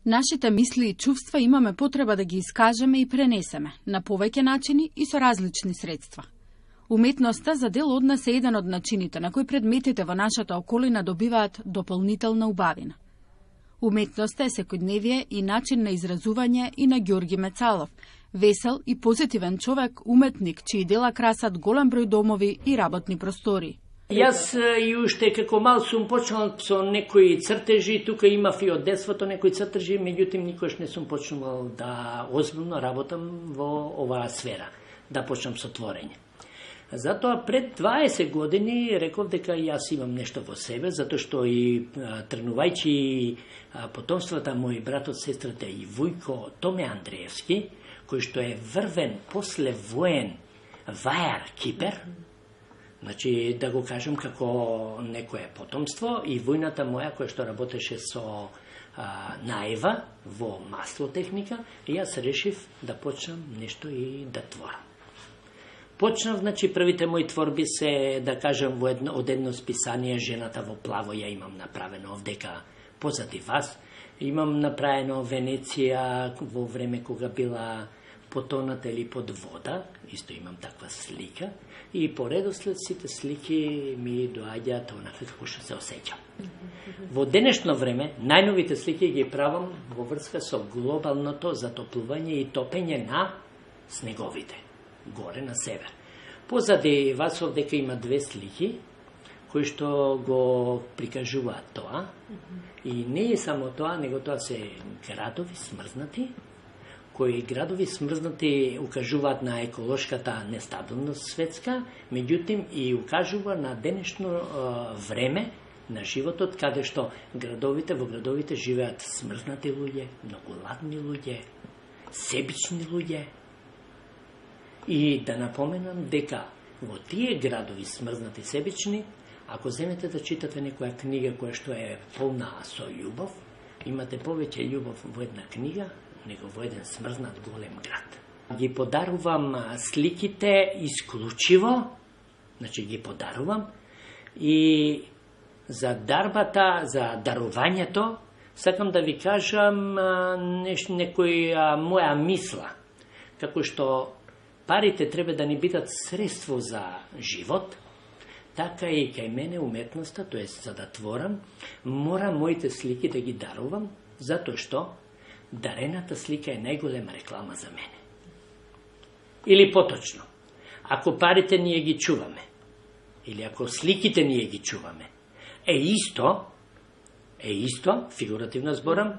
Нашите мисли и чувства имаме потреба да ги искажеме и пренесеме на повеќе начини и со различни средства. Уметноста за дел од нас е еден од начините на кои предметите во нашата околина добиваат дополнителна убавина. Уметноста е секојдневие и начин на изразување и на Ѓорги Мецалов, весел и позитивен човек, уметник, чии дела красат голем број домови и работни простори. Јас и уште како мал сум почнал со некои цртежи, тука имав и од детството некои цртежи, меѓутоа никош не сум почнувал да озбилно работам во оваа сфера, да почнам со творење. Затоа пред 20 години реков дека јас имам нешто во себе, затоа што и тренувајќи потомствата мои братот, сестрата и Вујко Томе Андреевски, кој што е врвен после воен вајар кипер, значи да го кажам како некое потомство, и војната моја која што работеше со наева во маслотехника, јас решив да почнам нешто и да творам. Почнав, значи, првите мои творби се, да кажам, од едно списание Жената во плаво, ја имам направено овдека позади вас. Имам направено Венеција во време кога била потоната или под вода, исто имам таква слика, и по редослед сите слики ми доаѓаат онака како што се осеќам. Во денешно време, најновите слики ги правам во врска со глобалното затоплување и топење на снеговите, горе на север. Позади вас овдека има две слики, кои што го прикажуваат тоа, и не е само тоа, него тоа се градови смрзнати, кои градови смрзнати укажуваат на еколошката нестабилност светска, меѓутоа и укажува на денешно време на животот, каде што во градовите живеат смрзнати луѓе, многу ладни луѓе, себични луѓе. И да напоменам дека во тие градови смрзнати себични, ако земете да читате некоја книга која што е полна со љубов, имате повеќе љубов во една книга, него во еден смрзнат голем град. Ги подарувам сликите исклучиво, значи ги подарувам, и за дарбата, за дарувањето, сакам да ви кажам некоја моја мисла, како што парите треба да ни бидат средство за живот, така и кај мене уметноста, тоест за да творам, мора моите слики да ги дарувам, затоа што дарената слика е најголема реклама за мене. Или поточно, ако парите ние ги чуваме, или ако сликите ние ги чуваме, е исто, фигуративно зборам,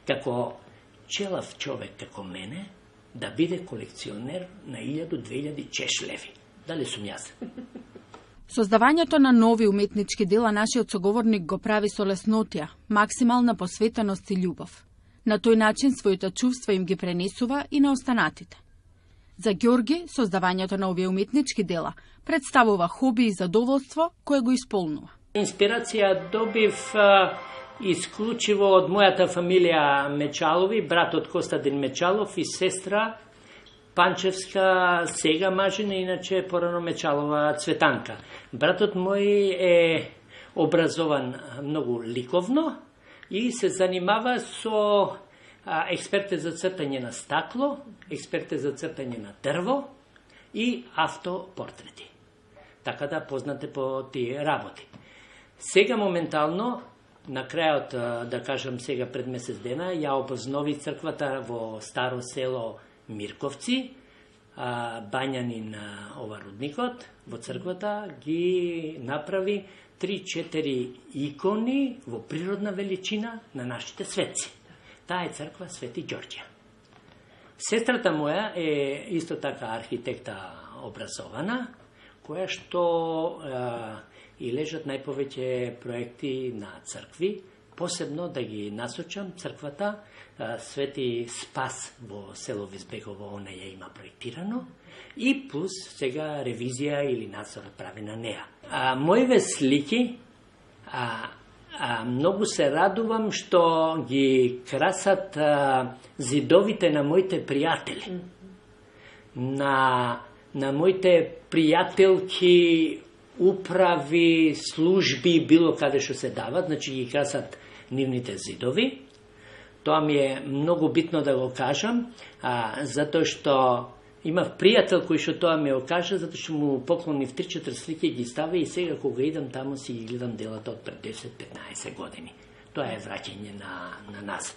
како челав човек како мене, да биде колекционер на 1000-2000 чешлеви. Дали сум јас? Создавањето на нови уметнички дела нашиот соговорник го прави со леснотија, максимална посветеност и љубов. На тој начин своите чувства им ги пренесува и на останатите. За Ѓорги, создавањето на овие уметнички дела представува хоби и задоволство кое го исполнува. Инспирација добив исклучиво од мојата фамилија Мечалови, братот Костадин Мечалов и сестра Панчевска, сега мажина, иначе порано Мечалова Цветанка. Братот мој е образован многу ликовно и се занимава со експерте за цртање на стакло, експерте за цртање на дрво и автопортрети. Така да познате по тие работи. Сега моментално, на крајот, да кажам сега пред месец дена, ја обознови црквата во старо село Мирковци, бањанин оварудникот, во црквата ги направи 3-4 икони во природна величина на нашите светци. Таа е црква Свети Ѓорѓе. Сестрата моја е исто така архитекта образована, која што и лежат најповеќе проекти на цркви, посебно да ги насочам црквата Свети Спас во село Визбегово, она ја има проектирано, и плюс сега ревизија или надзор прави на неа. Моите слики, многу се радувам што ги красат зидовите на моите пријатели. На моите пријателки, управи, служби, било каде што се дават, значи ги красат нивните зидови. Тоа ми е многу битно да го кажам, затоа што имав пријател кој што тоа ми го кажа, затоа што му поклонив 3-4 слики ги стави и сега кога идам таму си ги гледам делата од пред 10-15 години. Тоа е враќање на нас.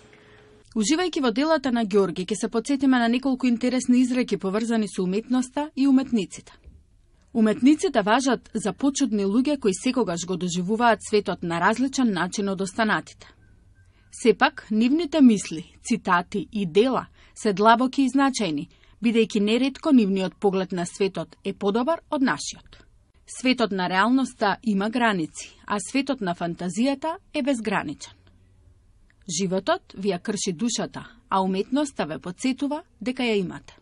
Уживајќи во делата на Ѓорги, ќе се потсетиме на неколку интересни изреки поврзани со уметноста и уметниците. Уметниците важат за почудни луѓе кои секогаш го доживуваат светот на различен начин од останатите. Сепак, нивните мисли, цитати и дела се длабоки и значајни, бидејќи неретко нивниот поглед на светот е подобар од нашиот. Светот на реалноста има граници, а светот на фантазијата е безграничен. Животот ви ја крши душата, а уметноста ве потсетува дека ја имате.